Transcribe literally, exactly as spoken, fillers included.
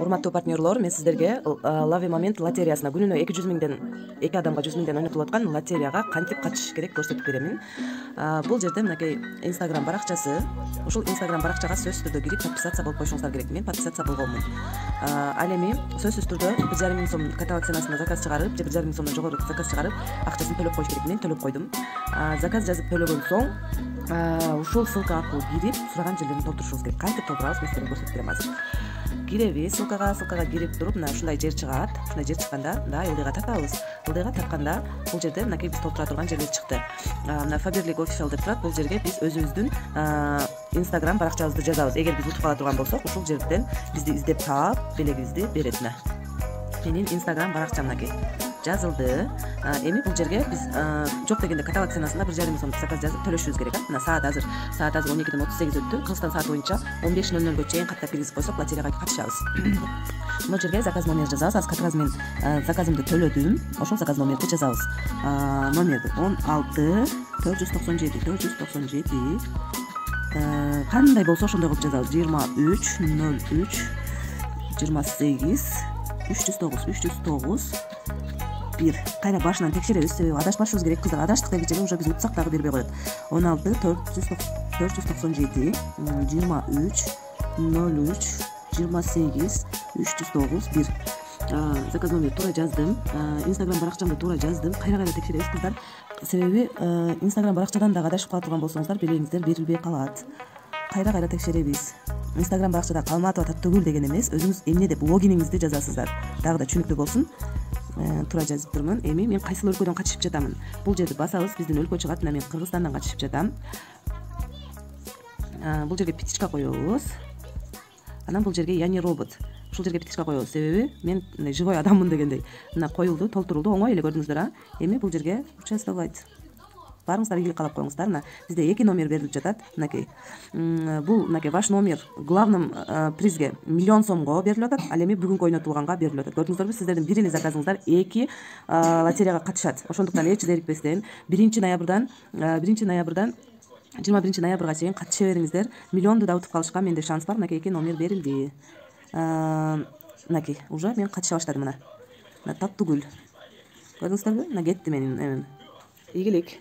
Урматтуу партнерлор, мен сиздерге Лави момент лотереясына күнүнө эки жүз миңден эки адамга жүз миңден ойнотулуп аткан лотереяга кантип катышыш керек көрсөтүп беремин. Бул жерде мынакей Instagram баракчасы. Ушул Instagram баракчага сөзсүз түрдө кирип подписация болуп коюшуңуздар керек. Мен подписация болгонмун. Ал эми сөзсүз түрдө бир жарым миң сом каталог ценасына заказ чыгарып, же бир жарым миң сомдон жогору заказ чыгарып, акчасын төлөп коюш керек. Мен төлөп койдум. Заказ жазып төлөгөн соң ушул ссылка аркылуу кирип, сураган жерлерин толтурушубуз керек. Кантип толтурабыз, мен сиздерге көрсөтүп берем азыр. Киребиз, ссылкага, ссылкага кирип туруп, мына ушундай жер чыгат. Ушундай жер чыкканда, мында ылдыйга тартабыз. Ылдыйга тартканда, бул жерде мынакей биз толтура турган жерлер чыкты. Мына Faberlic Official деп турат. Бул жерге биз өзүбүздүн Instagram баракчабызды жазабыз. Эгер биз утуп кала турган болсок, ушул жерден бизди издеп таап, белегибизди берет. Мына менин Instagram баракчам мынакей жазылды. Эми бул жерге биз жок дегенде каталог ценасында бир жарым миң сом заказ жазып төлөшүбүз керек. Мына саат азыр саат азыр он экиден отуз сегиз өттү. Кыргызстан сааты боюнча он беш ноль нолго чейин каттап киргизип койсок, лотереяга катышабыз. Бул жерге заказ номер жазабыз. Азыр как раз мен заказымды төлөдүм. Ошол заказ номерди жазабыз. Номерди он алты төрт жүз токсон жети төрт жүз токсон жети кандай болсо ошондой кылып жазабыз. жыйырма үч ноль үч жыйырма сегиз үч жүз тогуз үч жүз тогуз бир. Кайра башынан текшеребиз, себеби адашпашыбыз керек. Кыздар адаштык дегенче уже биз утсак дагы бербей коет. он алты төрт жүз токсон жети жыйырма үч ноль үч жыйырма сегиз үч жүз тогуз бир. Заказ номер туура жаздым. Instagram баракчамды туура жаздым. Кайра кайра текшеребиз кыздар. Себеби Instagram баракчадан дагы адашып кала турган болсоңуздар, белегиңиздер берилбей калат. Кайра кайра текшеребиз. Instagram баракчада калматып атат түгүл деген эмес. Өзүңүз эмне деп логиниңизди жазасыздар. Дагы да түшүнүктүү болсун. Туура жазып турмун. Эми мен кайсыл өлкөдөн катышып жатамын? Бул жерди басабыз, биздин өлкө чыгат. Мына мен Кыргызстандан катышып жатам. Бул жерге птичка коебуз. Анан бул жерге я не робот. Ушул жерге птичка коебуз, себеби мен живой адаммын дегендей. Мына коюлду, толтурулду, оңой эле көрдүңүздөр, а? Эми бул жерге участвовать. Барыңыздар, ийгилик каалап коюңуздар. Мына бизде эки номер берилип жатат. Мынакей. Бул мынакей ваш номер главным призге миллион сомго берилип атат. Ал эми бүгүнкү ойнотулганга берилип атат. Көрдүңүздөрбү, сиздердин бир эле заказыңыздар эки лотереяга катышат. Ошондуктан эч зерикпестен биринчи ноябрдан биринчи ноябрдан жыйырма биринчи ноябрга чейин катыша бериңиздер. Миллионду да утуп калышка менде шанс бар. Мынакей эки номер берилди. Мынакей уже мен катыша баштадым. Мына. Мына Таттыгүл. Көрдүңүздөрбү? Мына кетти менин эмем. Ийгилик.